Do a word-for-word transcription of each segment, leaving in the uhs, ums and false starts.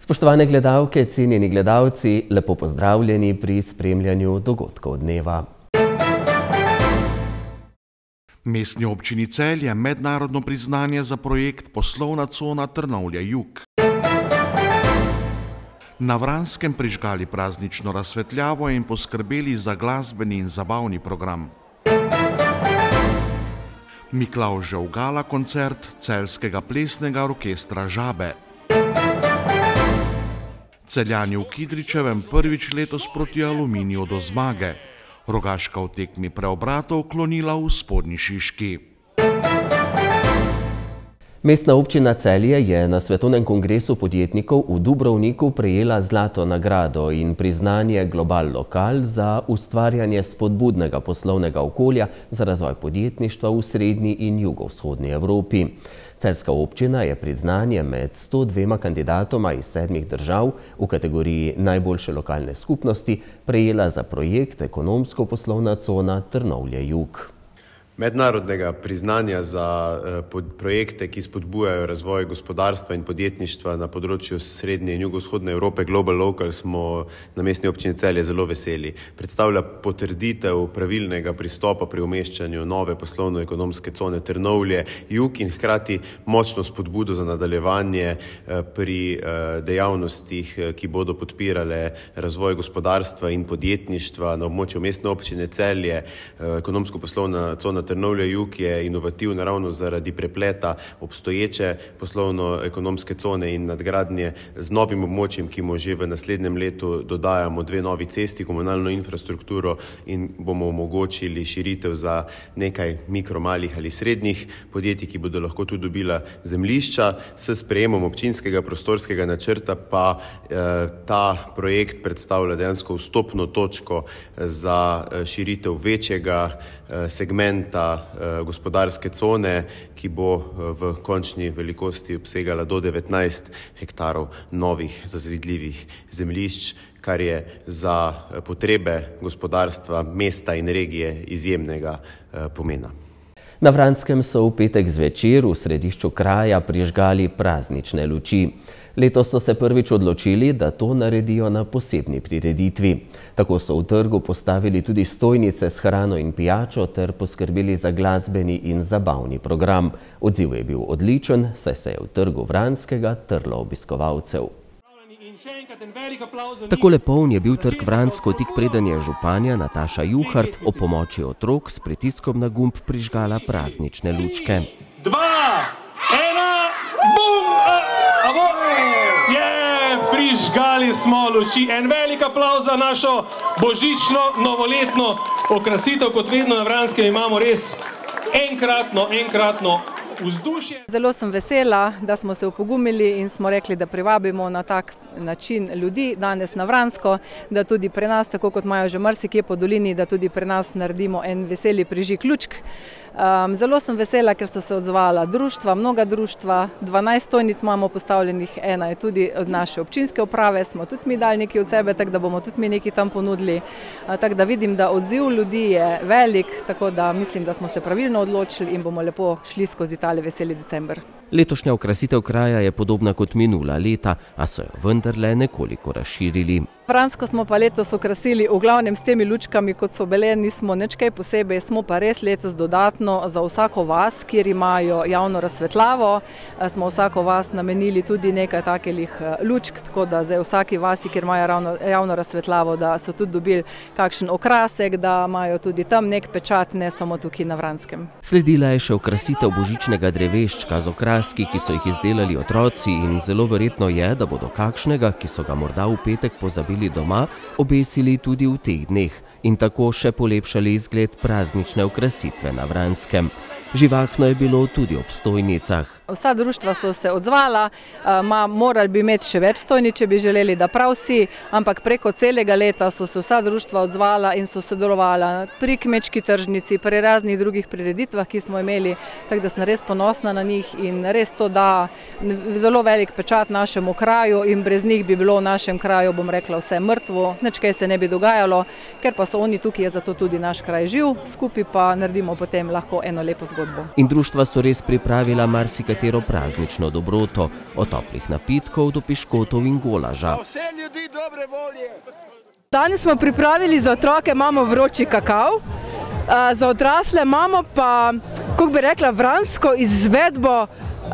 Spoštovane gledalke, cenjeni gledalci, lepo pozdravljeni pri spremljanju dogodkov dneva. Mestni občini Celje mednarodno priznanje za projekt Poslovna cona Trnovlje-Jug. Na Vranskem prižgali praznično razsvetljavo in poskrbeli za glasbeni in zabavni program. Miklavžev gala koncert Celjskega plesnega orkestra Žabe. Celjani v Kidričevem prvič letos proti Aluminiju do zmage. Rogaška v tekmi preobratov klonila v Spodnji Šiški. Mestna občina Celje je na Svetovnem kongresu podjetnikov v Dubrovniku prejela zlato nagrado in priznanje Global Lokal za ustvarjanje spodbudnega poslovnega okolja za razvoj podjetništva v srednji in jugovzhodni Evropi. Celjska občina je priznanje med sto dvema kandidatoma iz sedmih držav v kategoriji najboljše lokalne skupnosti prejela za projekt Ekonomsko-poslovna cona Trnovlje-Jug. Mednarodnega priznanja za projekte, ki spodbujajo razvoj gospodarstva in podjetništva na področju srednje in jugovzhodne Evrope, Global Local, smo na Mestni občini Celje zelo veseli. Predstavlja potrditev pravilnega pristopa pri umeščanju nove poslovno-ekonomske cone Trnovlje-Jug in hkrati močno spodbudo za nadaljevanje pri dejavnostih, ki bodo podpirale razvoj gospodarstva in podjetništva na območju Mestne občine Celje. Ekonomsko-poslovna cona Trnovlje-Jug je inovativna ravno zaradi prepleta obstoječe poslovno-ekonomske cone in nadgradnje z novim območjem, ki mu že v naslednjem letu dodajamo dve novi cesti, komunalno infrastrukturo in bomo omogočili širitev za nekaj mikro, malih ali srednjih podjetij, ki bodo lahko tudi dobila zemljišča. S sprejemom občinskega prostorskega načrta pa eh, ta projekt predstavlja dejansko vstopno točko za širitev večjega eh, segmenta gospodarske cone, ki bo v končni velikosti obsegala do devetnajst hektarov novih zazidljivih zemljišč, kar je za potrebe gospodarstva mesta in regije izjemnega pomena. Na Vranskem so v petek zvečer v središču kraja prižgali praznične luči. Letos so se prvič odločili, da to naredijo na posebni prireditvi. Tako so v trgu postavili tudi stojnice s hrano in pijačo ter poskrbeli za glasbeni in zabavni program. Odziv je bil odličen, saj se je v trgu Vranskega trlo obiskovalcev. Takole poln je bil trg Vransko, tik preden je županja Nataša Juhart ob pomoči otrok s pritiskom na gumb prižgala praznične lučke. Dva, ena, bum! Je, prižgali smo luči. En velik aplavz za našo božično, novoletno okrasitev. Kot vedno na Vranskem imamo res enkratno, enkratno vzdušje. Zelo sem vesela, da smo se opogumili in smo rekli, da privabimo na tak način ljudi danes na Vransko, da tudi pri nas, tako kot imajo že marsikje po dolini, da tudi pri nas naredimo en veseli prižig lučk. Um, zelo sem vesela, ker so se odzvala društva, mnoga društva, dvanajst stojnic imamo postavljenih, ena je tudi od naše občinske uprave, smo tudi mi dali nekaj od sebe, tako da bomo tudi mi nekaj tam ponudili. Uh, tako da vidim, da odziv ljudi je velik, tako da mislim, da smo se pravilno odločili in bomo lepo šli skozi tale veseli december. Letošnja okrasitev kraja je podobna kot minula leta, a so jo vendarle nekoliko razširili. Vransko smo pa letos okrasili v glavnem s temi lučkami, kot so bile, nismo nič kaj posebej, smo pa res letos dodatno za vsako vas, kjer imajo javno razsvetljavo, smo vsako vas namenili tudi nekaj takih lučk, tako da za vsaki vasi, kjer imajo ravno, javno razsvetljavo, da so tudi dobili kakšen okrasek, da imajo tudi tam nek pečat, ne samo tukaj na Vranskem. Sledila je še okrasitev božičnega dreveščka z okraski, ki so jih izdelali otroci in zelo verjetno je, da bodo kakšnega, ki so ga morda v petek pozabili doma, obesili tudi v teh dneh in tako še polepšali izgled praznične okrasitve na Vranskem. Živahno je bilo tudi ob stojnicah. Vsa društva so se odzvala, morali bi imeti še več stojnic, če bi želeli, da prav vsi, ampak preko celega leta so se vsa društva odzvala in so sodelovala pri kmečki tržnici, pri raznih drugih prireditvah, ki smo imeli, tako da sem res ponosna na njih in res to da zelo velik pečat našemu kraju in brez njih bi bilo v našem kraju, bom rekla, vse mrtvo, nič kaj se ne bi dogajalo, ker pa so oni tukaj, je zato tudi naš kraj živ, skupaj pa naredimo potem lahko eno lepo zgodbo. In društva so res pripravila marsikatero marsikatero praznično dobroto, od toplih napitkov do piškotov in golaža. Danes smo pripravili za otroke, imamo vroči kakav, za odrasle imamo pa, kako bi rekla, vransko izvedbo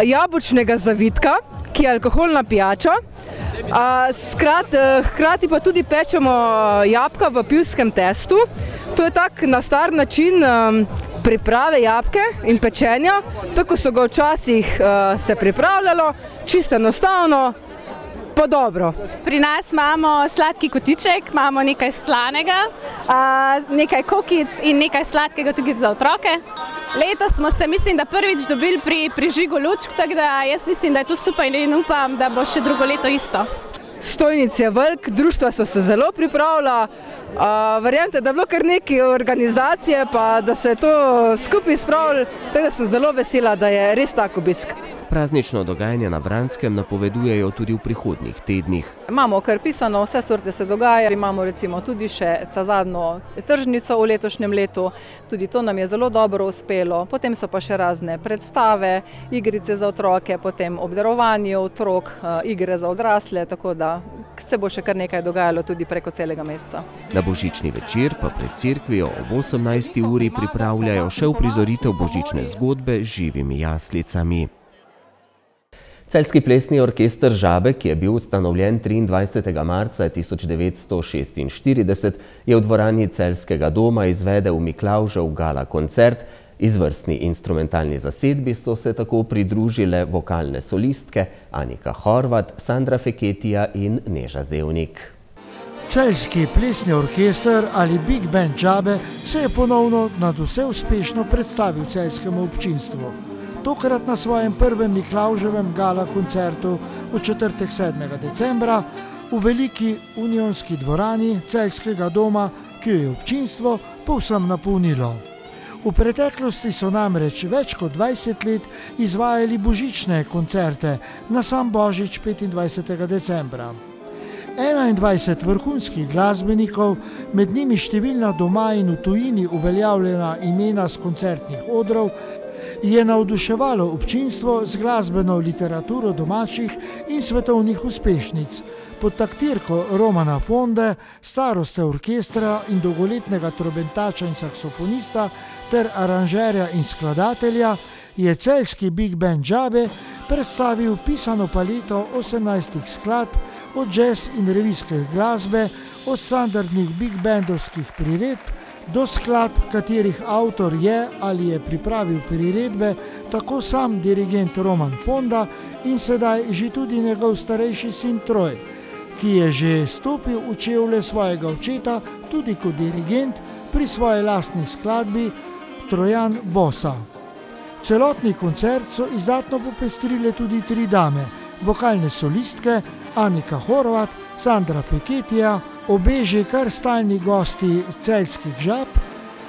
jabolčnega zavitka, ki je alkoholna pijača. Hkrati pa tudi pečemo jabolka v pivskem testu. To je tak na star način priprave jabolke in pečenja, tako so ga včasih se pripravljalo, čisto enostavno, pa dobro. Pri nas imamo sladki kotiček, imamo nekaj slanega, nekaj kokic in nekaj sladkega tudi za otroke. Letos smo se, mislim, da prvič dobili pri prižigu lučk, tako da jaz mislim, da je to super in upam, da bo še drugo leto isto. Stojnic je velik, društva so se zelo pripravila, verjemite, da je bilo kar nekaj organizacije, pa da se je to skupaj spravili, tako da sem zelo vesela, da je res tak obisk. Praznično dogajanje na Vranskem napovedujejo tudi v prihodnjih tednih. Imamo kar pisano, vse sorte se dogaja, imamo recimo tudi še ta zadnjo tržnico v letošnjem letu, tudi to nam je zelo dobro uspelo, potem so pa še razne predstave, igrice za otroke, potem obdarovanje otrok, igre za odrasle, tako da se bo še kar nekaj dogajalo tudi preko celega meseca. Na božični večer pa pred cerkvijo ob osemnajsti uri pripravljajo še uprizoritev božične zgodbe z živimi jaslicami. Celjski plesni orkester Žabe, ki je bil ustanovljen triindvajsetega marca tisoč devetsto šestinštirideset, je v dvorani Celjskega doma izvedel Miklavžev gala koncert. Izvrstni instrumentalni zasedbi so se tako pridružile vokalne solistke Anika Horvat, Sandra Feketija in Neža Zevnik. Celjski plesni orkester ali Big Band Žabe se je ponovno nadvse uspešno predstavil celjskemu občinstvu. Tokrat na svojem prvem Miklavževem gala koncertu v četrtek sedmega decembra v veliki unionski dvorani Celjskega doma, ki jo je občinstvo povsem napolnilo. V preteklosti so namreč več kot dvajset let izvajali božične koncerte na sam Božič petindvajsetega decembra. enaindvajset vrhunskih glasbenikov, med njimi številna doma in v tujini uveljavljena imena s koncertnih odrov, je navduševalo občinstvo z glasbeno literaturo domačih in svetovnih uspešnic. Pod taktirko Romana Fonde, staroste orkestra in dolgoletnega trobentača in saksofonista ter aranžerja in skladatelja je celjski Big Band Žabe predstavil pisano paleto osemnajstih skladb od jazz in revijske glasbe, od standardnih big bandovskih priredb do skladb, katerih avtor je ali je pripravil priredbe tako sam dirigent Roman Fonda in sedaj že tudi njegov starejši sin Troj, ki je že stopil v čevlje svojega očeta tudi kot dirigent pri svoji lastni skladbi Trojan Bosa. Celotni koncert so izdatno popestrile tudi tri dame, vokalne solistke Anika Horvat, Sandra Feketija, obe že kar stalni gosti celjskih Žab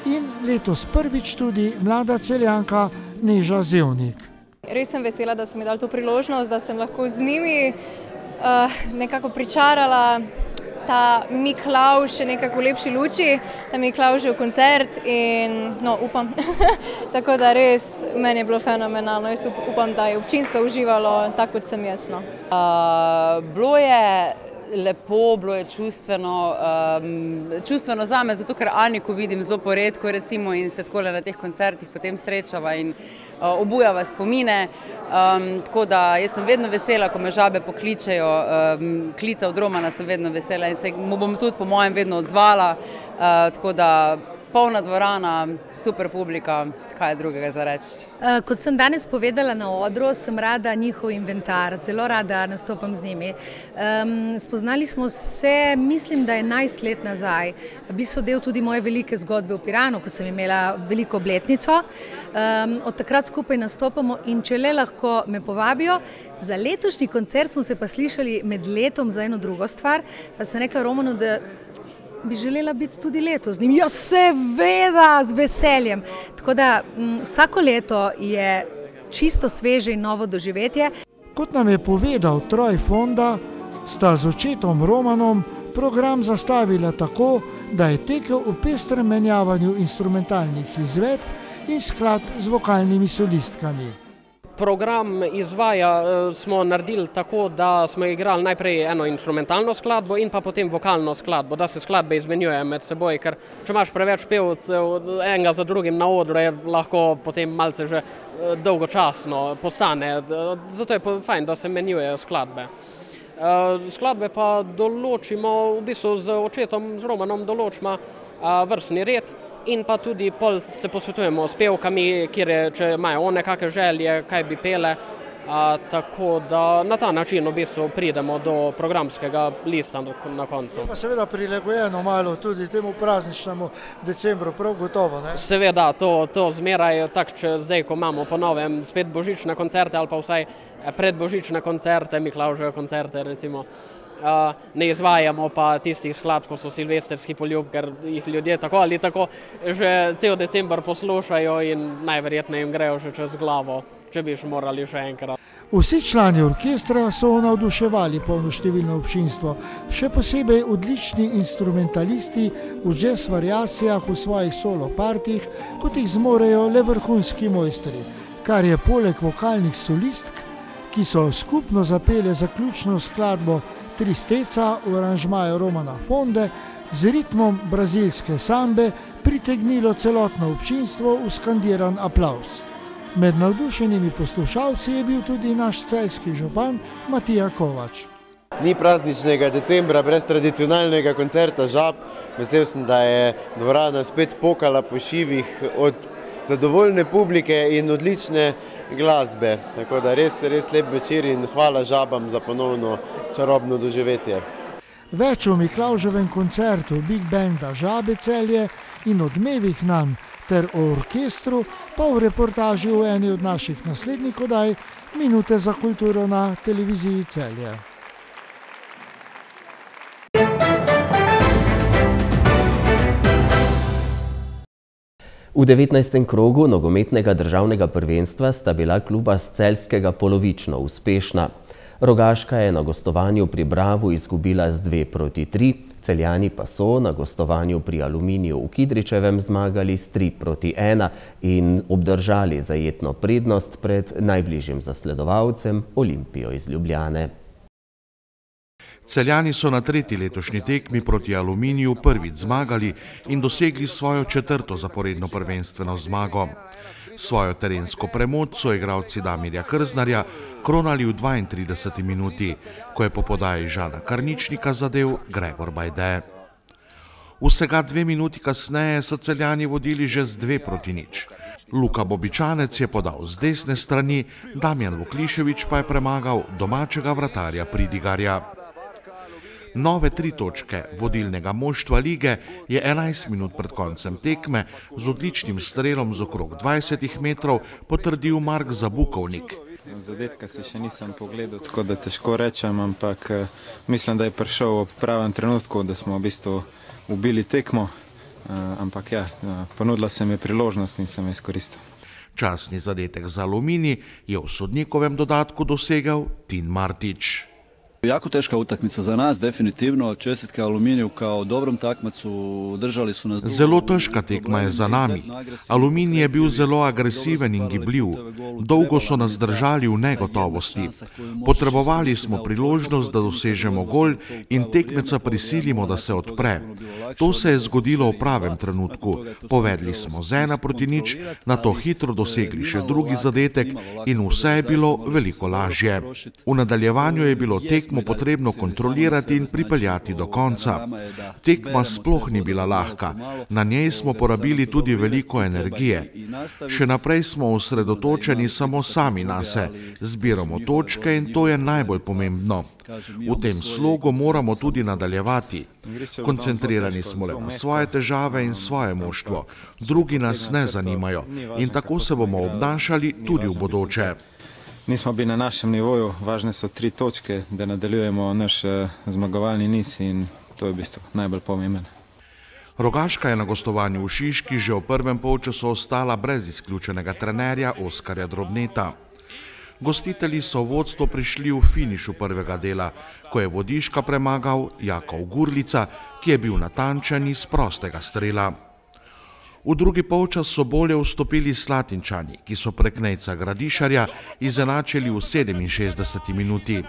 in letos prvič tudi mlada Celjanka Neža Zevnik. Res sem vesela, da so mi dali to priložnost, da sem lahko z njimi uh, nekako pričarala ta Miklavž še nekako v lepši luči, ta Miklavžev koncert in no, upam, tako da res meni je bilo fenomenalno, jaz upam, da je občinstvo uživalo tako, kot sem jaz. No. Uh, bilo je lepo, bilo je čustveno, um, čustveno zame, zato ker Aniko vidim zelo poredko recimo in se takole na teh koncertih potem srečava in uh, obujava spomine. Um, tako da jaz sem vedno vesela, ko me Žabe pokličejo, um, klica od Romana sem vedno vesela in se mu bom tudi po mojem vedno odzvala. Uh, tako da polna dvorana, super publika, kaj je drugega za reči. Kot sem danes povedala na odru, sem rada njihov inventar, zelo rada nastopam z njimi. Um, spoznali smo se, mislim, da je enajst let nazaj. Bili so del tudi moje velike zgodbe v Piranu, ko sem imela veliko obletnico. Um, od takrat skupaj nastopamo in če le lahko me povabijo. Za letošnji koncert smo se pa slišali med letom za eno drugo stvar, pa sem rekla Romanu, da bi želela biti tudi letos z njim. Ja, seveda, z veseljem. Tako da m, vsako leto je čisto sveže in novo doživetje. Kot nam je povedal Troj Fonda, sta z očetom Romanom program zastavila tako, da je tekel v pestrem menjavanju instrumentalnih izvedb in skladb z vokalnimi solistkami. Program izvaja smo naredili tako, da smo igrali najprej eno instrumentalno skladbo in pa potem vokalno skladbo, da se skladbe izmenjuje med seboj, ker če imaš preveč pevcev enega za drugim na odru, je lahko potem malce že dolgočasno postane. Zato je fajn, da se menjujejo skladbe. Skladbe pa določimo, v bistvu z očetom, z Romanom določimo vrstni red, in pa tudi pol se posvetujemo s pevkami, kjer je, če imajo one kakšne želje, kaj bi pele, a, tako da na ta način v bistvu pridemo do programskega lista na koncu. Pa seveda prilagojeno malo tudi temu prazničnemu decembru, prav gotovo, ne? Seveda, to, to zmeraj, tak, če zdaj, ko imamo po novem spet božične koncerte ali pa vsaj predbožične koncerte, Miklavževe koncerte recimo, Uh, ne izvajamo pa tistih skladb, kot so Silvestrski poljub, ker jih ljudje tako ali tako že cel december poslušajo in najverjetneje jim grejo že čez glavo, če bi še morali še enkrat. Vsi člani orkestra so navduševali polnoštevilno občinstvo, še posebej odlični instrumentalisti v jazz variacijah v svojih solo partijih, kot jih zmorejo le vrhunski mojstri, kar je poleg vokalnih solistk, ki so skupno zapele zaključno skladbo Tristeca v aranžmaju Romana Fonde z ritmom brazilske sambe pritegnilo celotno občinstvo v skandiran aplavz. Med navdušenimi poslušalci je bil tudi naš celjski župan Matija Kovač. Ni prazničnega decembra brez tradicionalnega koncerta Žab. Vesel sem, da je dvorana spet pokala po šivih od zadovoljne publike in odlične glasbe. Tako da res, res lep večer in hvala Žabam za ponovno čarobno doživetje. Več o Miklavževem koncertu Big Banda Žabe Celje in odmevih nanj ter o orkestru pa v reportaži v eni od naših naslednjih oddaj Minute za kulturo na televiziji Celje. V devetnajstem krogu nogometnega državnega prvenstva sta bila kluba s Celjskega polovično uspešna. Rogaška je na gostovanju pri Bravu izgubila z dve proti tri, Celjani pa so na gostovanju pri Aluminiju v Kidričevem zmagali s tri proti ena in obdržali zajetno prednost pred najbližjim zasledovalcem Olimpijo iz Ljubljane. Celjani so na tretji letošnji tekmi proti Aluminiju prvič zmagali in dosegli svojo četrto zaporedno prvenstveno zmago. Svojo terensko premoč so igralci Damirja Krznarja kronali v dvaintrideseti minuti, ko je po podaji Žana Karničnika zadel Gregor Bajde. Vsega dve minuti kasneje so Celjani vodili že z dve proti nič. Luka Bobičanec je podal z desne strani, Damjan Vuklišević pa je premagal domačega vratarja Pridigarja. Nove tri točke vodilnega moštva lige je enajst minut pred koncem tekme z odličnim strelom z okrog dvajsetih metrov potrdil Mark Zabukovnik. Zadetka si še nisem pogledal, tako da težko rečem, ampak mislim, da je prišel v pravem trenutku, da smo v bistvu ubili tekmo, ampak ja, ponudila se mi je priložnost in sem jo izkoristil. Časni zadetek za Aluminij je v sodnikovem dodatku dosegel Tin Martić. Jako teška utakmica za nas, definitivno. Čestitke Aluminiju kao dobrom takmacu, držali su nas... Zelo težka tekma je za nami. Aluminij je bil zelo agresiven in gibljiv. Dolgo so nas držali v negotovosti. Potrebovali smo priložnost, da dosežemo gol in tekmeca prisilimo, da se odpre. To se je zgodilo v pravem trenutku. Povedli smo z ena proti nič, nato hitro dosegli še drugi zadetek in vse je bilo veliko lažje. V nadaljevanju je bilo tekmo potrebno kontrolirati in pripeljati do konca. Tekma sploh ni bila lahka, na njej smo porabili tudi veliko energije. Še naprej smo osredotočeni samo sami nase, zbiramo točke in to je najbolj pomembno. V tem slogu moramo tudi nadaljevati. Koncentrirani smo le na svoje težave in svoje moštvo, drugi nas ne zanimajo in tako se bomo obnašali tudi v bodoče. Nismo bili na našem nivoju, važne so tri točke, da nadaljujemo naš zmagovalni niz in to je v bistvu najbolj pomembno. Rogaška je na gostovanju v Šiški že v prvem polčasu ostala brez izključenega trenerja Oskarja Drobneta. Gostitelji so v vodstvo prišli v finišu prvega dela, ko je Vodiška premagal Jakov Gurlica, ki je bil natančen iz prostega strela. V drugi polčas so bolje vstopili Slatinčani, ki so prek Nejca Gradišarja izenačili v sedeminšestdeseti minuti.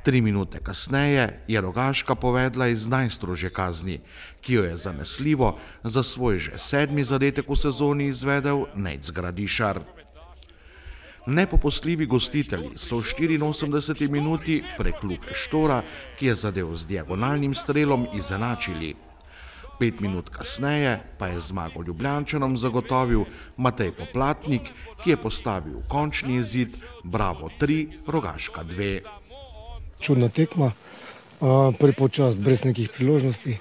Tri minute kasneje je Rogaška povedla iz najstrožje kazni, ki jo je zanesljivo za svoj že sedmi zadetek v sezoni izvedel Nejc Gradišar. Nepopustljivi gostitelji so v štiriinosemdeseti minuti prek Luke Štora, ki je zadel z diagonalnim strelom, izenačili. Pet minut kasneje pa je zmago Ljubljančanom zagotovil Matej Poplatnik, ki je postavil končni izid Bravo tri, Rogaška dve. Čudna tekma, prvi polčas brez nekih priložnosti.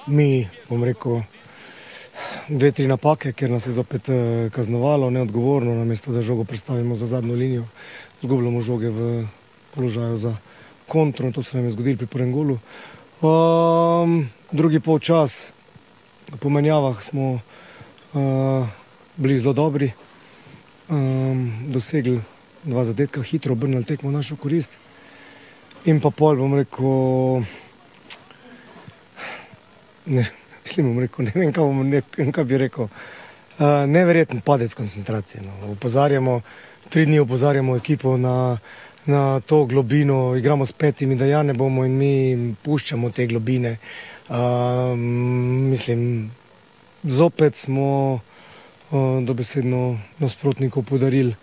Mi, bom rekel, dve, tri napake, ker nas je zopet kaznovalo, neodgovorno, namesto da žogo predstavimo za zadnjo linijo. Zgubljamo žoge v položaju za kontro, to se nam je zgodilo pri prvem golu. Um, drugi polčas, po menjavah smo uh, bili zelo dobri, um, dosegli dva zadetka, hitro obrnili tekmo v našo korist. In pa pol, bom rekel, ne, mislim, bom rekel, ne vem, kaj, bom, ne, kaj bi rekel, uh, neverjeten padec koncentracije. No. Opozarjamo, tri dni opozarjamo ekipo na na to globino, igramo s petimi, da ja ne bomo in mi puščamo te globine. Um, mislim, zopet smo uh, dobesedno nasprotnikov podarili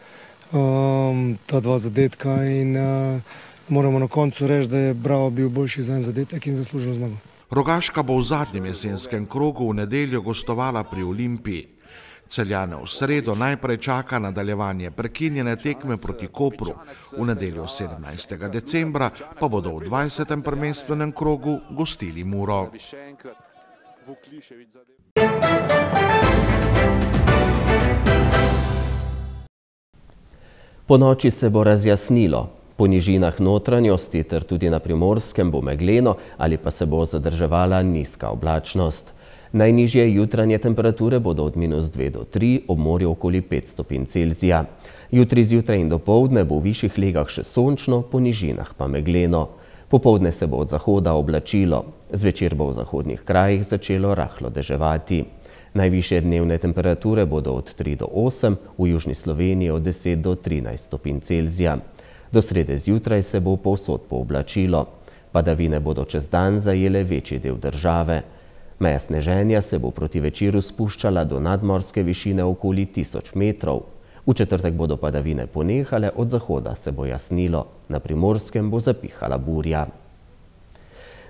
um, ta dva zadetka in uh, moramo na koncu reči, da je Bravo bil boljši za en zadetek in zasluženo zmago. Rogaška bo v zadnjem jesenskem krogu v nedeljo gostovala pri Olimpiji. Celjane v sredo najprej čaka nadaljevanje prekinjene tekme proti Kopru. V nedeljo sedemnajstega decembra pa bodo v dvajsetem prvenstvenem krogu gostili Muro. Po noči se bo razjasnilo. Po nižinah notranjosti ter tudi na Primorskem bo megleno ali pa se bo zadrževala nizka oblačnost. Najnižje jutranje temperature bodo od minus dve do tri, ob morju okoli pet stopinj Celzija. Jutri zjutraj in dopoldne bo v višjih legah še sončno, po nižinah pa megleno. Popoldne se bo od zahoda oblačilo. Zvečer bo v zahodnih krajih začelo rahlo deževati. Najvišje dnevne temperature bodo od tri do osem, v južni Sloveniji od deset do trinajst stopinj Celzija. Do srede zjutraj se bo povsod pooblačilo. Padavine bodo čez dan zajele večji del države. Meja sneženja se bo proti večeru spuščala do nadmorske višine okoli tisoč metrov. V četrtek bodo padavine ponehale, od zahoda se bo jasnilo. Na Primorskem bo zapihala burja.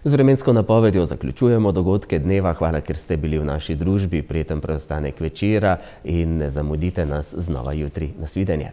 Z vremensko napovedjo zaključujemo dogodke dneva. Hvala, ker ste bili v naši družbi. Prijeten preostanek večera in ne zamudite nas znova jutri. Nasvidenje.